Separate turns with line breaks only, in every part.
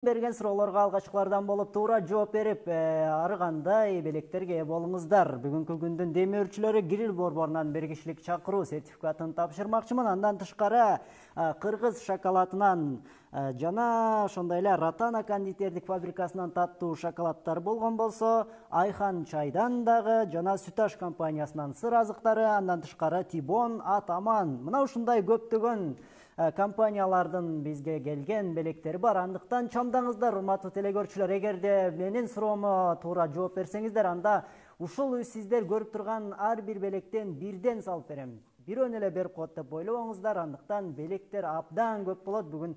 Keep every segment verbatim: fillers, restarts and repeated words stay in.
Берген суроолорго алгачкылардан болуп туура жооп берип, ары кандай белектерге ээ болуңуздар. Бүгүнкү күндүн демөөрчүлөрү Грил борборунан бир кишилик чакыруу сертификатын тапшырмакчымын. Андан тышкары кыргыз шоколадынан жана ошондой эле Ротана кондитердик фабрикасынан таттуу шоколаддар болгон болсо, Айхан чайдан дагы жана Сүташ компаниясынан сыр азыктары, андан тышкары Тибон, Атаман. Мына ушундай көптөгөн компаниялардын бизге келген белектери бар. Андыктан чамдаңыздар, урматтуу телекөрүүчүлөр. Эгерде менин суроомо туура жооп берсеңиздер, анда ушул сиздер көрүп турган ар бир белектен бирден салып берем. Бирөөнү эле берип коет деп ойлобоңуздар. Андыктан белектер абдан көп болот. Бүгүн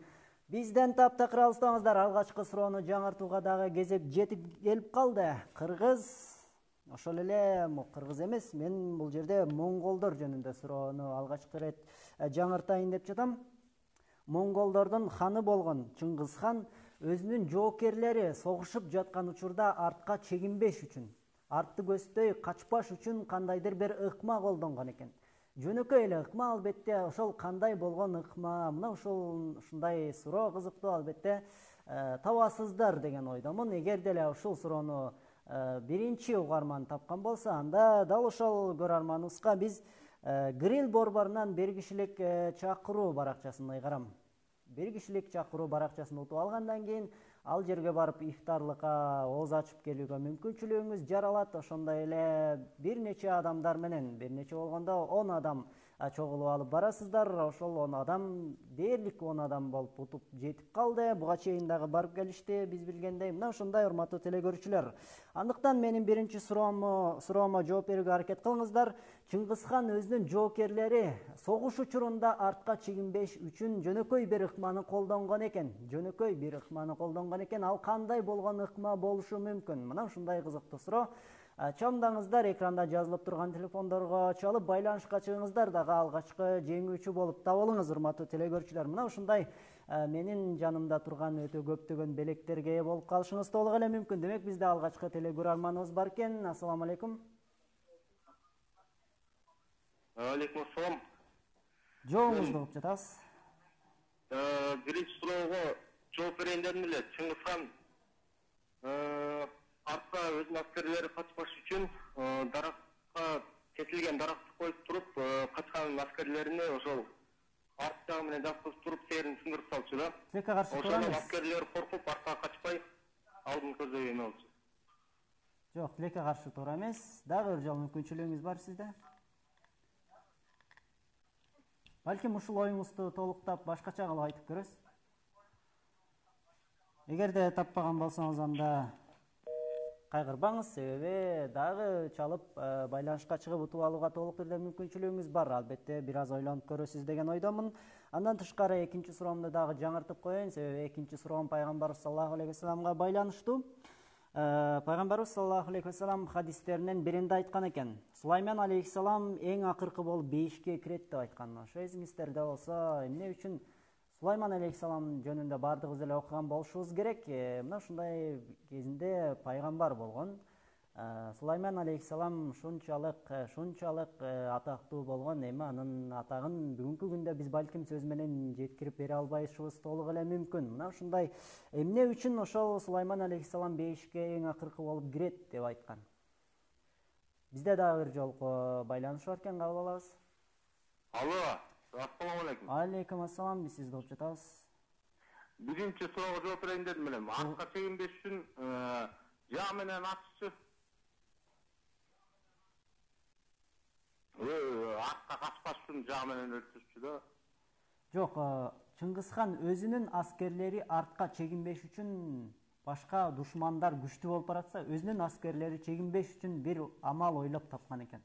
бизден таптакыр алыстабаңыздар. Алгачкы суроону жаңыртууга дагы кезек жетип келип калды. Кыргыз ошол эле кыргыз эмес, мен бул жерде монголдор жөнүндө суроону алгачкы ирет жаңыртайын деп жатам. Монголдордун ханы болгон Чыңгыз хан өзүнүн жоокерлери согушуп жаткан учурда артка чегинбеш үчүн, артты көздөй качпаш үчүн кандайдыр бир ыкма колдонгон экен. Жөнөкөй эле ыкма, албетте, ошол кандай болгон ыкма? Мына ушул ушундай суроо кызыктуу, албетте, табасыздар деген ойдомун. Эгер деле ушул суроону биринчи угарман тапкан болсо, анда дал ошол көрөрманыбызга биз Грил борборунан бир кишилик чакыруу баракчасын ыйгарам. Бир кишилик чакыруу баракчасын утуп алгандан кийин ал жерге барып ифтарлыкка ооз ачып келүүгө мүмкүнчүлүгүңүз жаралат. Ошондой эле бир нече адамдар менен, бир нече болгондо он адам чогулуп алып барасыздар. Ошол он адам, дээрлик он адам болуп утуп жетип калды. Буга чейин дагы барып келишти, биз билгендей. Мына ушундай, урматтуу телекөрүүчүлөр. Андыктан менин биринчи суроомо суроомо жооп берүүгө аракет кылыңыздар. Чыңгыз хан өзүнүн жоокерлери согуш учурунда артка чегинбеш үчүн жөнөкөй бир ыкманы колдонгон экен. Жөнөкөй бир ыкманы колдонгон экен. Ал кандай болгон ыкма болушу мүмкүн? Мына ушундай кызыктуу суроо. Чамдаңыздар, экранда жазылып турган телефондорго чалып байланышка чыгыңыздар, дагы алгачкы жеңүүчү болуп табылыңыз, урматтуу телекөрүүчүлөр. Мына ушундай менин жанымда турган өтө көптөгөн белектерге ээ болуп калышыңыз толук эле мүмкүн. Демек, бизде алгачкы телекөрөрманыбыз бар экен. Ассаламу алейкум.
Алейкум ассалам.
Жооңузду угуп жатабыз.
Биринчи суроого жооп берейин дедим эле. Чыңгыз хан артка өзүнүн аскерлери качпаш үчүн даракка, кесилген даракты коюп туруп, качкан аскерлерине ошол арт жагы менен жаткызып туруп, терин сындырып салчу да.
Тилекке каршы туура эмес.
Ошол аскерлер коркуп, артка качпай, алдын көздөй эме болчу.
Жок, тилекке каршы туура эмес. Дагы бир жолу мүмкүнчүлүгүңүз бар сизде. Балким ушул оюңузду толуктап башкача кылып айтып көрөсүз. Эгерде таппаган болсоңуз, анда кайгырбаңыз, себеби дагы чалып байланышка чыгып утуп алууга толук түрдө мүмкүнчүлүгүңүз бар. Албетте, бир аз ойлонуп көрөсүз деген ойдомун. Андан тышкары экинчи суроомду дагы жаңыртып коеюн, себеби экинчи суроом пайгамбарыбыз саллаллаху алейхи вассаламга байланыштуу. Пайгамбарыбыз саллаллаху алейхи вассалам хадистеринен биринде айткан экен: Сулайман алейхиссалам эң акыркы болуп бейишке кирет деп айткан. Ошо эсиңиздерде болсо, эмне үчүн Сулайман алейхиссалам жөнүндө бардыгыбыз эле окуган болушубуз керек. Мына ушундай кезинде пайгамбар болгон. Сулайман алейхиссалам ушунчалык ушунчалык атактуу болгон. Эми анын атагын бүгүнкү күндө биз балким сөз менен жеткирип бере албайшыбыз толук эле мүмкүн. Мына ушундай эмне үчүн ошол Сулайман алейхиссалам бейишке эң акыркы болуп кирет деп айткан. Бизде дагы бир жолку байланыш бар экен, кабыл алабыз.
Алло, ассаламу алейкум.
Алейкум ассалам, биз сизди угуп жатабыз.
Биринчи суроого жооп берейин дедим эле. Артка чегинбеш үчүн жаа менен аччы. Артка качпаш үчүн жаа менен өлтүрчү да.
Жок, Чыңгыз хан өзүнүн аскерлери артка чегинбеш үчүн, башка душмандар күчтүү болуп баратса, өзүнүн аскерлери чегинбеш үчүн бир амал ойлоп тапкан экен.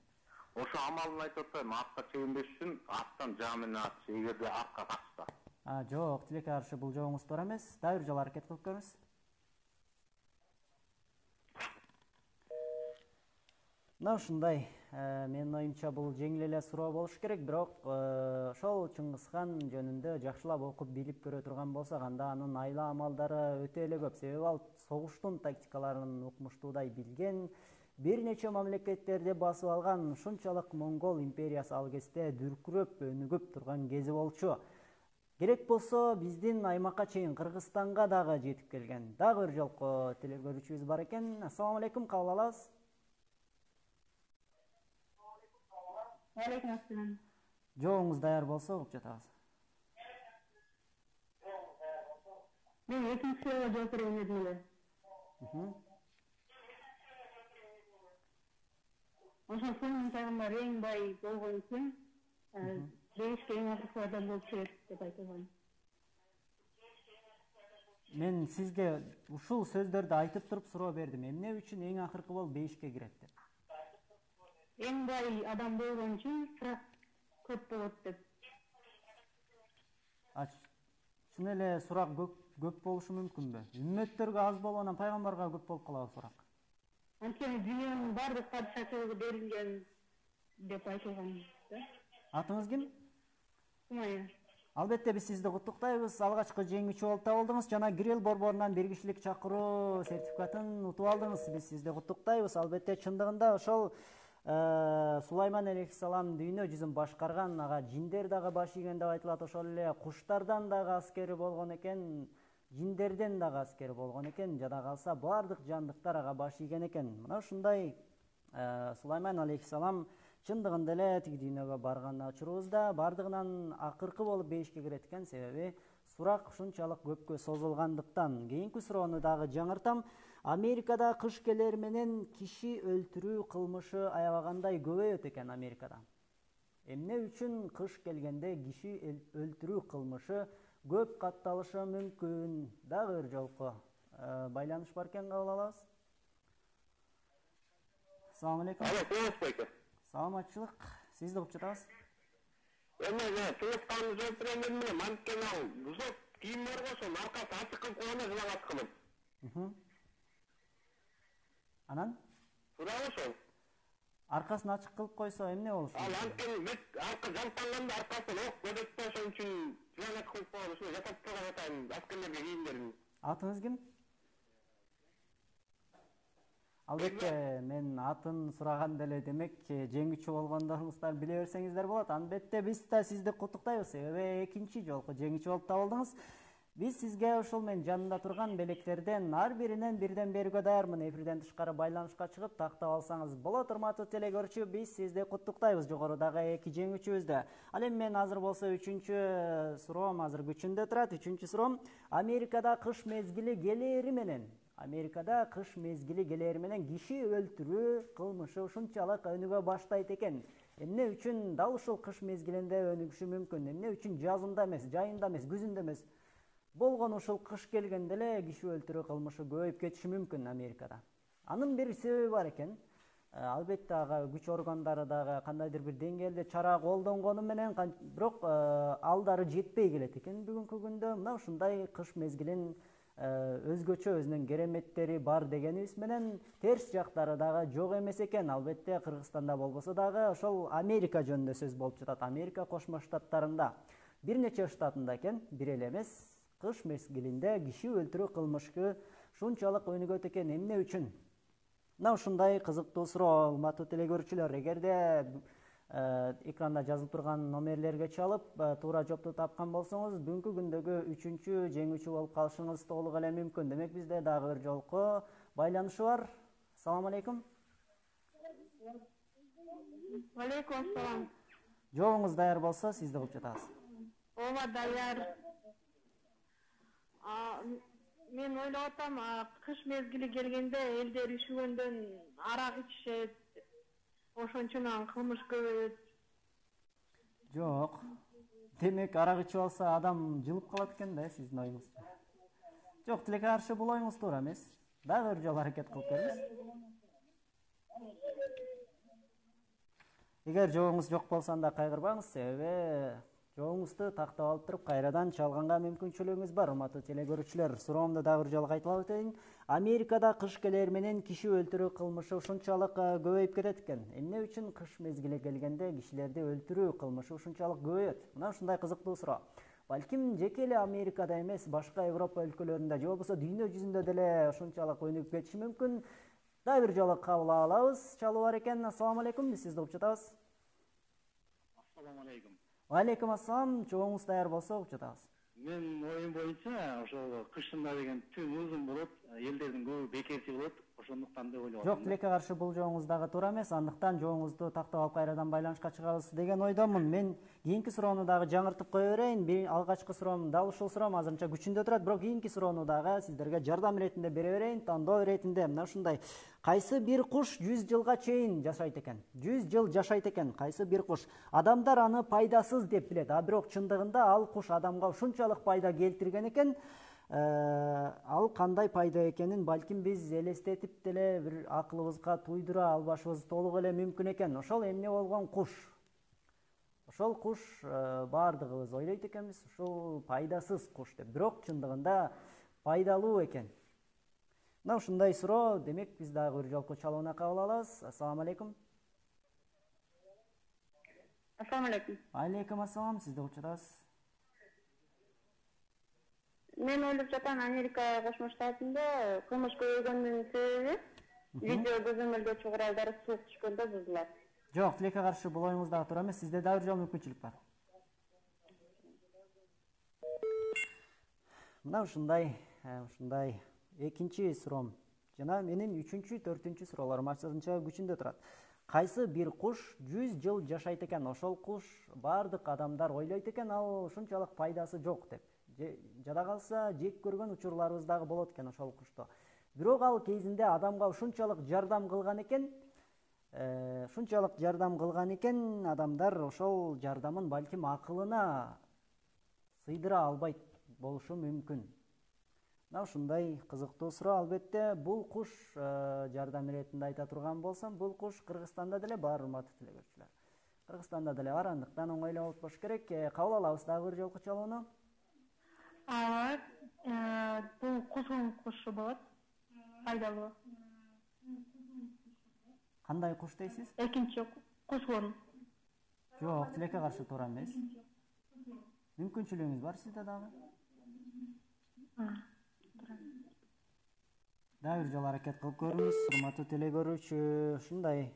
Ошо амалын айтып атпаймынбы? Артка чегинбеш үчүн арттан жаа менен аччы, эгерде артка качса.
А, жок, тилекке каршы бул жообуңуз туура эмес. Дагы бир жолу аракет кылып көрүңүз. Мына ушундай, менин оюмча бул жеңил эле суроо болуш керек, бирок ошол Чыңгыз хан жөнүндө жакшылап окуп билип көрө турган болсок, анда анын айла амалдары өтө эле көп. Себеби ал согуштун тактикаларын укмуштуудай билген, бир нече мамлекеттерди басып алган. Ушунчалык Монгол империясы ал кезде дүркүрөп, өнүгүп турган кези болчу. Керек болсо биздин аймакка чейин Кыргызстанга дагы жетип келген. Дагы бир жолку телекөрүүчүбүз бар экен. Ассаламу алейкум, кабыл алабыз.
Алейкум ассалам.
Жооңуз даяр болсо угуп жатабыз.
Мен экинчи суроого жооп берейин дедим эле. Ошол сонун пайгамбар эң бай болгон үчүн бейишке эң акыркы адам болуп чыгат деп айтылган.
Мен сизге ушул сөздөрдү айтып туруп суроо бердим. Эмне үчүн эң акыркы болуп бейишке кирет деп?
Эң бай адам болгон үчүн сурак көп болот деп.
Чын эле сурак көп көп болушу мүмкүнбү? Үммөттөргө аз болуп, анан пайгамбарга көп болуп калабы сурак?
Анткени дүйнөнүн баардык падышачылыгы берилген деп айтылган да.
Атыңыз ким?
Сумая.
Албетте биз сизди куттуктайбыз. Алгачкы жеңүүчү болуп табылдыңыз жана Грил борборунан бир кишилик чакыруу сертификатын утуп алдыңыз. Биз сизди куттуктайбыз. Албетте чындыгында ошол Сулайман алейхиссалам дүйнө жүзүн башкарган, ага жиндер дагы баш ийген деп айтылат. Ошол эле куштардан дагы аскери болгон экен, жиндерден дагы аскери болгон экен. Жада калса баардык жандыктар ага баш ийген экен. Мына ушундай Сулайман алейхиссалам чындыгында эле тиги дүйнөгө барган учурубузда бардыгынан акыркы болуп бейишке кирет экен. Себеби сурак ушунчалык көпкө созулгандыктан. Кийинки суроону дагы жаңыртам. Америкада кыш келер менен киши өлтүрүү кылмышы аябагандай көбөйөт экен Америкада. Эмне үчүн кыш келгенде киши өлтүрүү кылмышы көп катталышы мүмкүн? Дагы бир жолку байланыш бар экен, кабыл алабыз. Assalamu alaikum.
Alo, Kılıç Bey.
Саламатчылык. Сизди угуп жатабыз.
Эми мен Кılıç'tan жооп берем эле, манткени ал бузок кийимдер кошон аркасы ачык кылып койгонда жылаңат кылып.
Анан?
Сурак ошол.
Аркасын ачык кылып койсо эмне болушу?
Ал анткени мет арка жамтанганда аркасынан ок көдөт да, ошон үчүн жылаңат кылып койгон, ушуну жасап турган атайын аскерлерге кийимдерин.
Атыңыз ким? Албетте мен атын сураганда эле демек жеңүүчү болгондоруңуздар биле берсеңиздер болот. Албетте биз да сизди куттуктайбыз. Себеби экинчи жолку жеңүүчү болуп табылдыңыз. Биз сизге ушул мен жанында турган белектерден ар биринен бирден берүүгө даярмын. Эфирден тышкары байланышка чыгып тактап алсаңыз болот. Урматтуу телекөрүүчү, биз сизди куттуктайбыз жогорудагы эки жеңүүчүбүздү. Ал эми мен азыр болсо үчүнчү суроом азыр күчүндө турат. Үчүнчү суроом: Америкада кыш мезгили келери менен Америкада кыш мезгили келери менен киши өлтүрүү кылмышы ушунчалык өнүгө баштайт экен. Эмне үчүн дал ушул кыш мезгилинде өнүгүшү мүмкүн? Эмне үчүн жазында эмес, жайында эмес, күзүндө эмес, болгон ушул кыш келгенде эле киши өлтүрүү кылмышы көбөйүп кетиши мүмкүн Америкада? Анын бир себеби бар экен. Албетте ага күч органдары дагы кандайдыр бир деңгээлде чара колдонгону менен, бирок алдары жетпей келет экен бүгүнкү күндө. Мына ушундай кыш мезгилин өзгөчө өзүнүн кереметтери бар дегенибиз менен терс жактары дагы жок эмес экен. Албетте Кыргызстанда болбосо дагы ошол Америка жөнүндө сөз болуп жатат. Америка Кошмо Штаттарында бир нече штатында экен, бир эле эмес, кыш мезгилинде киши өлтүрүү кылмышы ушунчалык өнүгөт экен. Эмне үчүн? Мына ушундай кызыктуу суроо, урматтуу телекөрүүчүлөр. Эгерде экранда жазылып турган номерлерге чалып туура жоопту тапкан болсоңуз, бүгүнкү күндөгү үчүнчү жеңүүчү болуп калышыңыз толук эле мүмкүн. Демек бизде дагы бир жолку байланышы бар. Салам алейкум.
Алейкум ассалам.
Жообуңуз даяр болсо сизди угуп жатабыз.
Ооба, даяр. Мен ойлоп атам, кыш мезгили келгенде элдер үшүгөндөн арак ичишет. Ошончон кылмыш көбөйөт.
Жок. Демек арак ичип алса адам жылып калат экен да, сиздин оюңузча. Жок, тилекке каршы бул оюңуз туура эмес. Дагы бир жолу аракет кылып көрүңүз. Эгер жообуңуз жок болсо анда кайгырбаңыз, себеби жообуңузду тактап алып туруп кайрадан чалганга мүмкүнчүлүгүңүз бар. Урматтуу телекөрүүчүлөр, суроомду дагы бир жолу кайталап өтөйүн. Америкада кыш келер менен киши өлтүрүү кылмышы ушунчалык көбөйүп кетет экен. Эмне үчүн кыш мезгили келгенде кишилерди өлтүрүү кылмышы ушунчалык көбөйөт? Мына ушундай кызыктуу суроо. Балким жеке эле Америкада эмес, башка Европа өлкөлөрүндө же болбосо дүйнө жүзүндө деле ушунчалык өнүгүп кетиши мүмкүн. Дагы бир жолу кабыл алабыз. Чалуу бар экен. Ассаламу алейкум. Биз сизди угуп жатабыз.
Ассаламу алейкум.
Алейкум ассалам, чогуңуз даяр болсо учутабыз.
Мен оюм боюнча ошол кышында деген түн узун болот, элдердин көбү бекерчи болот, ошондуктан деп ойлоп атам.
Жок, тилекке каршы бул жогуңуз дагы туура эмес, андыктан жогуңузду тактап алып кайрадан байланышка чыгабыз деген ойдомун. Мен кийинки суроону дагы жаңыртып кое берейин. Бир алгачкы суроом дал ушул суроом азырынча күчүндө турат, бирок кийинки суроону дагы сиздерге жардам иретинде бере берейин. Тандоо иретинде мына ушундай: кайсы бир куш жүз жылга чейин жашайт экен? жүз жыл жашайт экен кайсы бир куш? Адамдар аны пайдасыз деп билет, а бирок чындыгында ал куш адамга ушунчалык пайда келтирген экен. Ал кандай пайда экенин балким биз элестетип деле бир акылыбызга туйдура албашыбыз толук эле мүмкүн экен. Ошол эмне болгон куш? Ошол куш баардыгыбыз ойлойт экенбиз, ушул пайдасыз куш деп. Бирок чындыгында пайдалуу экен. Мына ушундай суроо, демек биз дагы бир жолку чалууна кабыл алабыз. Ассаламу алейкум.
Ассаламу алейкум.
Алейкум ассалам, сизди учурабыз.
Мен ойлоп жатам, Америка Кошмо Штатында кылмыш көбөйгөндүн себеби видео көзөмөлдөөчү куралдары суук түшкөндө бузулат.
Жок, тилекке каршы бул оюңуз дагы туура эмес. Сизде дагы бир жолу мүмкүнчүлүк бар. Мына ушундай, ушундай экинчи суроом жана менин үчүнчү, төртүнчү суроолорум азырынча күчүндө турат. Кайсы бир куш жүз жыл жашайт экен? Ошол куш баардык адамдар ойлойт экен, ал ушунчалык пайдасы жок деп. Жада калса жек көргөн учурларыбыз дагы болот экен ошол кушту. Бирок ал кезинде адамга ушунчалык жардам кылган экен, ушунчалык жардам кылган экен, адамдар ошол жардамын балким акылына сыйдыра албайт болушу мүмкүн. Мына ушундай кызыктуу суроо. Албетте, бул куш жардам иретинде айта турган болсом, бул куш Кыргызстанда деле бар, урматтуу телегөрүүчүлөр. Кыргызстанда деле бар, андыктан оңойлоп алып болуш керек. Кабыл алабыз дагы бир жолку чалууну.
Ооба, бул кузгун кушу болот. Пайдалуу.
Кандай куш дейсиз?
Экинчи кузгун.
Жок, тилекке каршы туура эмес. Мүмкүнчүлүгүңүз бар сизде дагы? Дагы бир жолу аракет кылып көрүңүз, урматтуу телегөрүүчү. Ушундай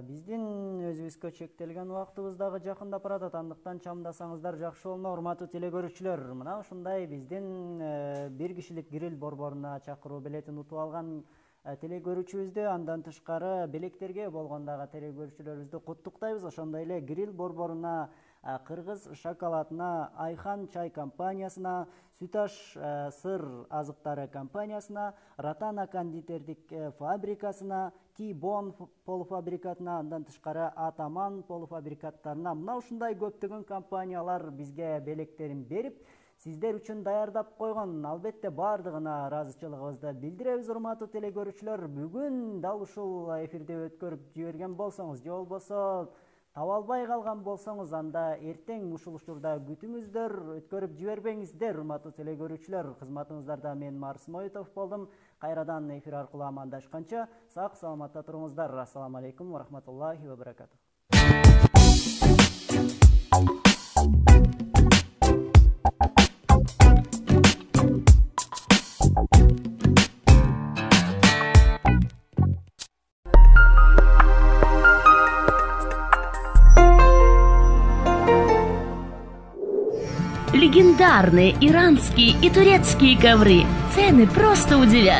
биздин өзүбүзгө чектелген убактыбыз дагы жакындап баратат, андыктан чамдасаңыздар жакшы болмок, урматтуу телегөрүүчүлөр. Мына ушундай биздин бир кишилик гриль борборуна чакыруу билетин утуп алган телегөрүүчүбүздү, андан тышкары белектерге болгон дагы телегөрүүчүлөрүбүздү куттуктайбыз. Ошондой эле гриль борборуна, Кыргыз шоколадына, Айхан чай компаниясына, Сүташ сыр азыктары компаниясына, Ратана кондитердик фабрикасына, Ти-бон полуфабрикатына, андан тышкары Атаман полуфабрикаттарына, мына ушундай көптөгөн компаниялар бизге белектерин берип, сиздер үчүн даярдап койгон. Албетте, баардыгына ыраазычылыгыбызды билдиребиз, урматтуу телегөрүүчүлөр. Бүгүн дал ушул эфирде өткөрүп жиберген болсоңуз, же болбосо таба албай калган болсоңуз, анда эртең ушул учурда күтүңүздөр, өткөрүп жибербеңиздер, урматтуу телегөрүүчүлөр. Кызматыңыздарда мен Марс Моитов болдум. Кайрадан эфир аркылуу амандашканча сак саламатта туруңуздар. Ассаламу алейкум ва рахматуллахи ва баракатух.
Легендарные иранские и турецкие ковры. Цены просто удивят.